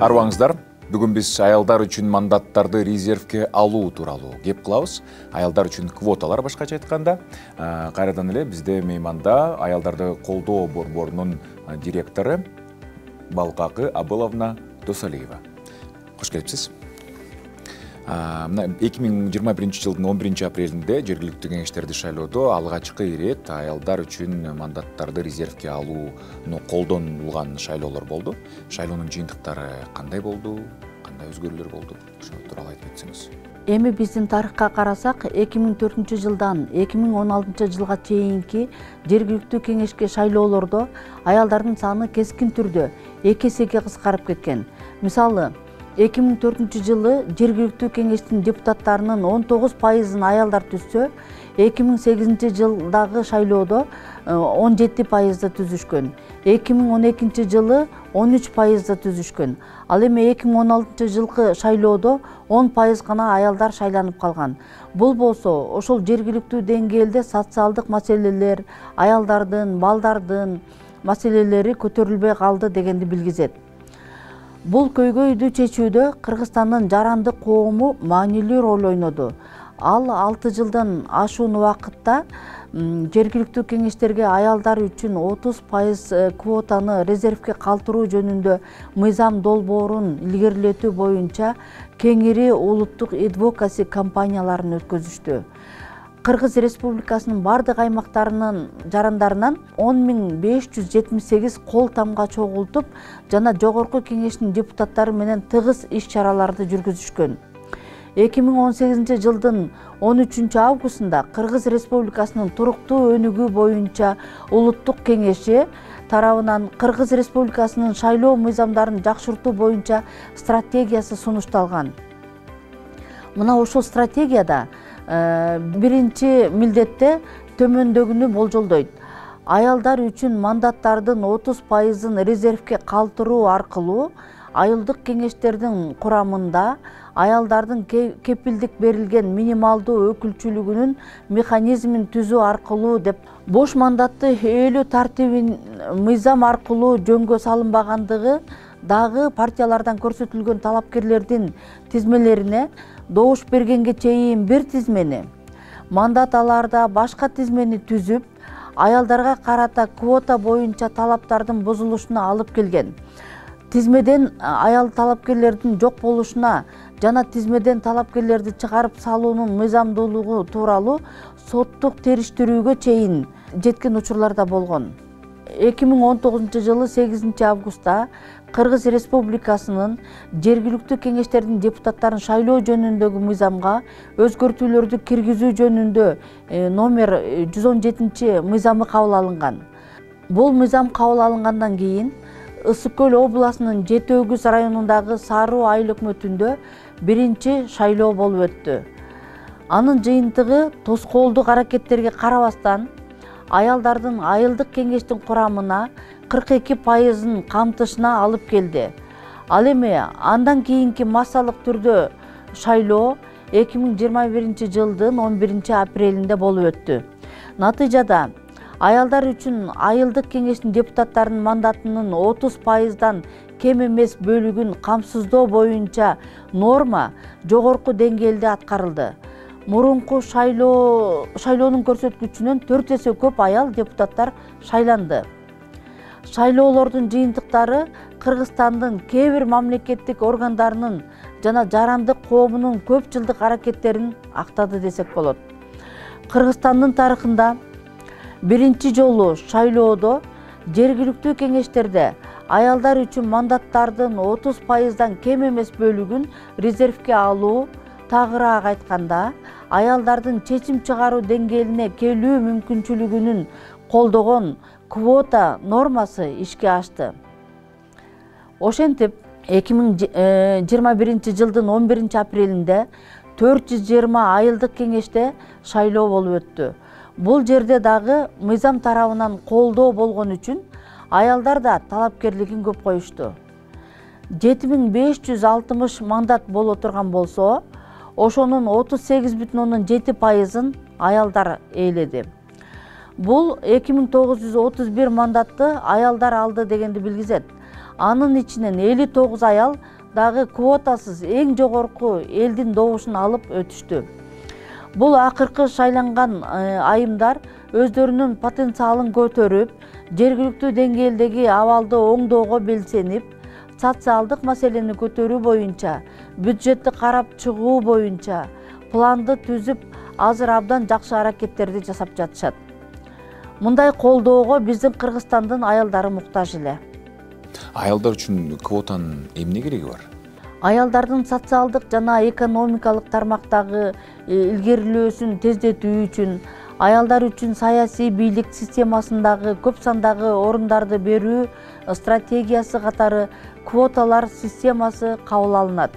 Арыбаңыздар, бүгүн биз аялдар үчүн мандаттарды резервке алуу тууралуу кеп кылабыз. Аялдар үчүн квоталар башкача айтканда. Кайрадан эле бизде мейманда аялдарды колдоо борборунун директору Балкакы Абыловна Досалиева. Кош келипсиз. 2021 жылдын 11 апрелинде жергиликтүү кеңештерди шайлоодо алгачкы ирет аялдар үчүн мандаттарды резервке алууну колдонулган шайлоолор болду. Шайлоонун жыйынтыктары кандай болду, кандай өзгөрүүлөр болду? Ошол тууралуу айтып өтсөңүз. Эми биздин тарыхка карасак, 2004 жылдан 2016 жылга чейинки жергиликтүү кеңешке шайлоолордо аялдардын саны кескин түрдө 2 эсеге кыскарып кеткен. Мисалы, 2004 жылы жергиликтүү кеңештин депутаттарынын 19% аялдар түзсө, 2008 жылдагы шайлоодо 17% түзүшкөн. 2012 жылы 13% түзүшкөн. Ал эми 2016 жылкы шайлоодо 10% гана аялдар шайланып калган. Бул болсо, ошол жергиликтүү деңгээлде социалдык маселелер, аялдардын, балдардын маселелери көтөрүлбөй калды дегенди билгизет. Бул көйгөйдү чечүүдө Кыргызстандын жарандык коому маанилүү роль ойноду. Ал 6 жылдан ашуун убакытта жергиликтүү кеңештерге аялдар үчүн 30% квотаны резервке калтыруу жөнүндө мыйзам долбоорун илгерилетүү боюнча кеңири улуттук адвокаси кампанияларын өткөзүштү. Кыргыз Республикасынын бардык аймактарынын жарандарынан 10.578 кол тамга чогултуп жана жогорку кеңештин депутаттары менен тыгыз иш-чараларды жүргүзүшкөн. 2018 жылдын 13 августунда Кыргыз Республикасынын туруктуу өнүгүү боюнча улуттук кеңеши тарабынан Кыргыз Республикасынын шайлоо мыйзамдарын жакшыртуу боюнча стратегиясы сунушталган. Мына ошол стратегияда биринчи милдетте төмөндөгүнү болжолдойт. Аялдар үчүн мандаттардын 30% резервке калтыруу аркылуу айылдык кеңештердин курамында аялдардын кепилдик берилген минималдуу өкүлчүлүгүнүн механизмин түзүү аркылуу деп, бош мандатты ээлүү тартибин мыйзам аркылуу жөнгө салынбагандыгы дагы партиялардан көрсөтүлгөн талапкерлердин тизмелерине добуш бергенге чейин бир тизмени, мандат аларда башка тизмени түзүп, аялдарга карата квота боюнча талаптардын бузулушуна алып келген. Тизмеден аял талапкерлердин жок болушуна жана тизмеден талапкерлерди чыгарып салуунун мыйзамдуулугу тууралуу соттук териштирүүгө чейин жеткен учурлар да болгон. 2019 жылы 8 августта Кыргыз Республикасынын жергиликтүү кеңештердин депутаттарын шайлоо жөнүндөгү мыйзамга өзгөртүүлөрдү киргизүү жөнүндө номер 117 мыйзамы кабыл алынган. Бул мыйзам кабыл алынгандан кийин Ысык көл областынын Жети Өгүз районундагы Саруу айыл өкмөтүндө биринчи шайлоо болуп өттү. Анын жыйынтыгы тоскоолдук аракеттерге карабастан аялдардын айылдык кеңештин курамына 42%-ын камтышына алып келди. Ал эми андан кийинки массалык түрдө шайлоо 2021 жылдын 11 апрелинде болуп өттү. Натыйжада аялдар үчүн айылдык кеңештин депутаттарынын мандатынын 30%-дан кем эмес бөлүгүн камсыздоо боюнча норма жогорку деңгээлде аткарылды. Мурунку шайлоонун көрсөткүчүнөн 4 эсе көп аял депутаттар шайланды. Шайлоолордун жыйынтыктары Кыргызстандын кээ бир мамлекеттик органдарынын жана жарандык коомунун көп жылдык аракеттерин актады десек болот. Кыргызстандын тарыхында биринчи жолу шайлоодо жергиликтүү кеңештерде аялдар үчүн мандаттардын 30%-дан кем эмес бөлүгүн резервке алуу, тагыраак айтканда, аялдардын чечим чыгаруу деңгээлине келүү мүмкүнчүлүгүнүн колдогон квота нормасы ишке ашты. Ошентип, 2021 жылдын 11 апрелинде 420 айылдык кеңеште шайлоо болуп өттү. Бул жерде дагы мыйзам тарабынан колдоо болгон үчүн аялдар да талапкерлигин көп коюшту. 7560 мандат боло турган болсо, ошонун 38,7%-ын аялдар ээледи. Бул 2931 мандатты аялдар алды дегенди билгизет. Анын ичинен 59 аял дагы квотасыз эң жогорку элдин добушун алып өтүштү. Бул акыркы шайланган айымдар өздөрүнүн потенциалын көтөрүп, жергиликтүү деңгээлдеги абалды оңдоого белсенип, социалдык маселени көтөрүү боюнча, бюджетти карап чыгуу боюнча планды түзүп, азыр абдан жакшы аракеттерди жасап жатышат. Мындай колдоого биздин Кыргызстандын аялдары муктаж эле. Аялдар үчүн квотанын эмне кереги бар? Аялдардын социалдык жана экономикалык тармактагы илгерилөөсүн тездетүү үчүн, аялдар үчүн саясий бийлик системасындагы көп сандагы орундарды берүү стратегиясы катары квоталар системасы кабыл алынат.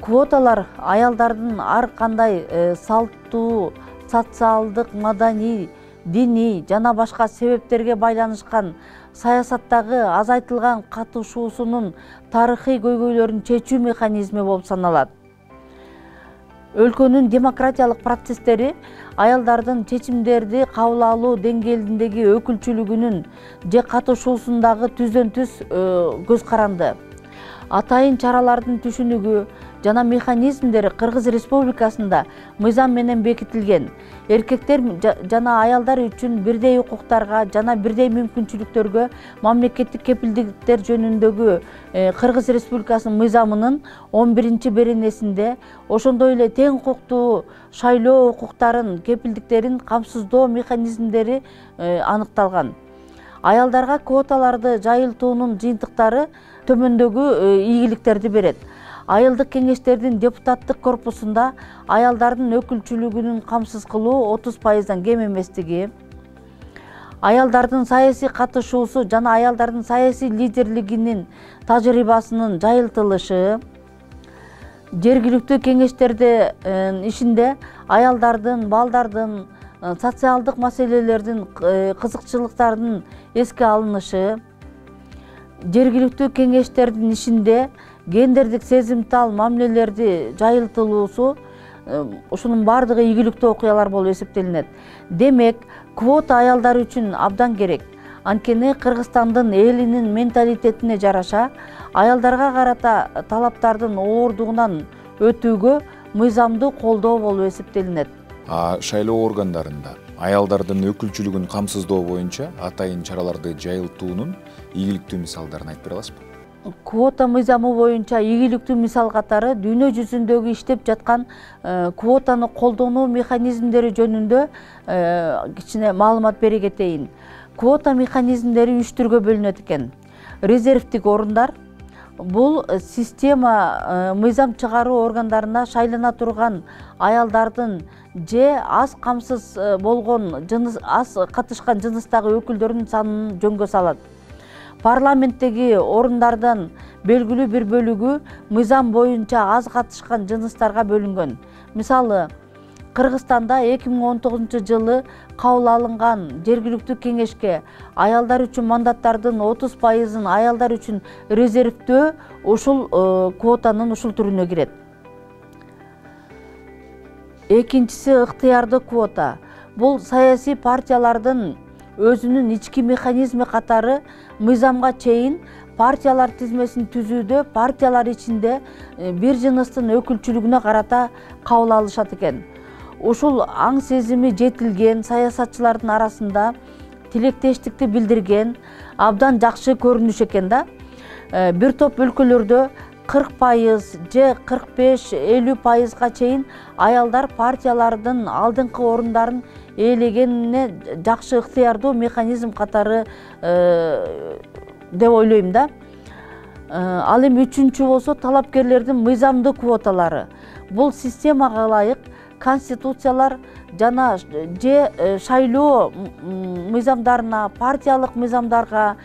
Квоталар аялдардын ар кандай салттуу, социалдык, маданий, диний жана башка себептерге байланышкан саясаттагы азайтылган катышуусунун тарыхый көйгөйлөрүн чечүү механизми болуп саналат. Өлкөнүн демократиялык процесстери аялдардын чечимдерди кабыл алуу деңгээлиндеги өкүлчүлүгүнүн же катышуусундагы түздөн түз көз каранды. Атайын чаралардын түшүнүгү жана механизмдери Кыргыз Республикасында мыйзам менен бекитилген. Эркектер жана аялдар үчүн бирдей укуктарга жана бирдей мүмкүнчүлүктөргө мамлекеттик кепилдиктер жөнүндөгү Кыргыз Республикасынын мыйзамынын 11-беренесинде, ошондой эле тең укуктуу шайлоо укуктарын, кепилдиктерин камсыздоо механизмдери аныкталган. Аялдарга квоталарды жайылтуунун жыйынтыктары төмөндөгү ийгиликтерди берет. Айылдык кеңештердин депутаттык корпусунда аялдардын өкүлчүлүгүнүн камсыз кылуу 30%дан кем эместиги, аялдардын саясий катышуусу жана аялдардын саясий лидерлигинин тажрыйбасынын жайылтылышы, жергиликтүү кеңештердин ишинде аялдардын, балдардын, социалдык маселелердин, кызыкчылыктардын эске алынышы, жергиликтүү кеңештердин ишинде гендердик сезимтал мамилелерди жайылтылуусу, ушунун баардыгы ийгиликтүү окуялар болуп эсептелинет. Демек, квота аялдар үчүн абдан керек. Анткени Кыргызстандын элинин менталитетине жараша аялдарга карата талаптардын ооругунан өтүүгө мыйзамдуу колдоо болуп эсептелинет. Шайлоо органдарында аялдардын өкүлчүлүгүн камсыздоо боюнча атайын чараларды жайылтуунун ийгиликтүү мисалдарын айтып бере аласызбы? Квота мыйзамы боюнча ийгиликтүү мисал катары дүйнө жүзүндөгү иштеп жаткан квотаны колдонуу механизмдери жөнүндө кичине маалымат бере кетейин. Квота механизмдери 3 түргө бөлүнөт экен. Резервдик орундар — бул система мыйзам чыгаруу органдарына шайлана турган аялдардын же аз камсыз болгон, аз катышкан жыныстагы өкүлдөрдүн санын жөнгө салат. Парламенттеги орундардан белгилүү бир бөлүгү мыйзам боюнча аз катышкан жыныстарга бөлүнгөн. Мисалы, Кыргызстанда 2019 жылы кабыл алынган жергиликтүү кеңешке аялдар үчүн мандаттардын 30%-ын аялдар үчүн резервдөө ушул квотанын ушул түрүнө кирет. Экинчиси ыктыярдуу квота. Бул саясий партиялардын өзүнүн ички механизми катары мыйзамга чейин партиялар тизмесин түзүүдө партиялар ичинде бир жыныстын өкүлчүлүгүнө карата кабыл алышат экен. Ушул аң сезими жетилген саясатчылардын арасында тилектештикти билдирген абдан жакшы көрүнүш экен да. Бир топ өлкөлөрдө 40% же 45-50%га чейин аялдар партиялардын алдыңкы орундарын ээлегенине жакшы ыктыярдуу механизм катары деп ойлойм да. Ал эми үчүнчү болсо талапкерлердин мыйзамдуу квоталары. Бул системага ылайык конституциялар жана же шайлоо мыйзамдарына, партиялык мыйзамдарга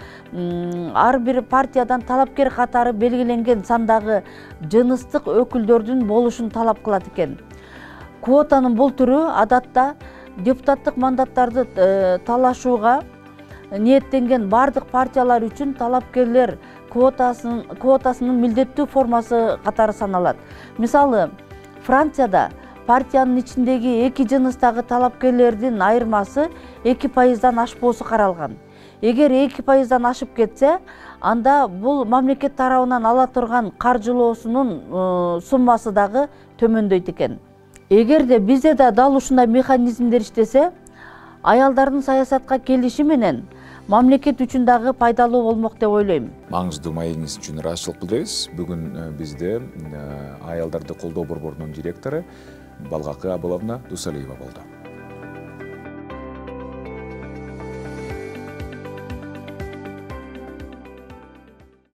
ар бир партиядан талапкер катары белгиленген сандагы жыныстык өкүлдөрдүн болушун талап кылат экен. Квотанын бул түрү адатта депутаттык мандаттарды талашууга ниеттенген бардык партиялар үчүн талапкерлер квотасынын милдеттүү формасы катары саналат. Мисалы, Францияда партиянын ичиндеги эки жыныстагы талапкерлердин айырмасы 2%дан ашпоосу каралган. эгер 2%-дан ашып кетсе, анда бул мамлекет тарабынан ала турган каржылоосунун суммасы дагы төмөндөйт экен. Эгерде бизде да дал ушундай механизмдер иштесе, аялдардын саясатка келиши менен мамлекет үчүн дагы пайдалуу болмок деп ойлойм. Маңыздуу маегиңиз үчүн ыраазычылык билдиребиз. Бүгүн бизде аялдарды колдоо борборунун директору Балгакы Абыловна Дусалиева болду.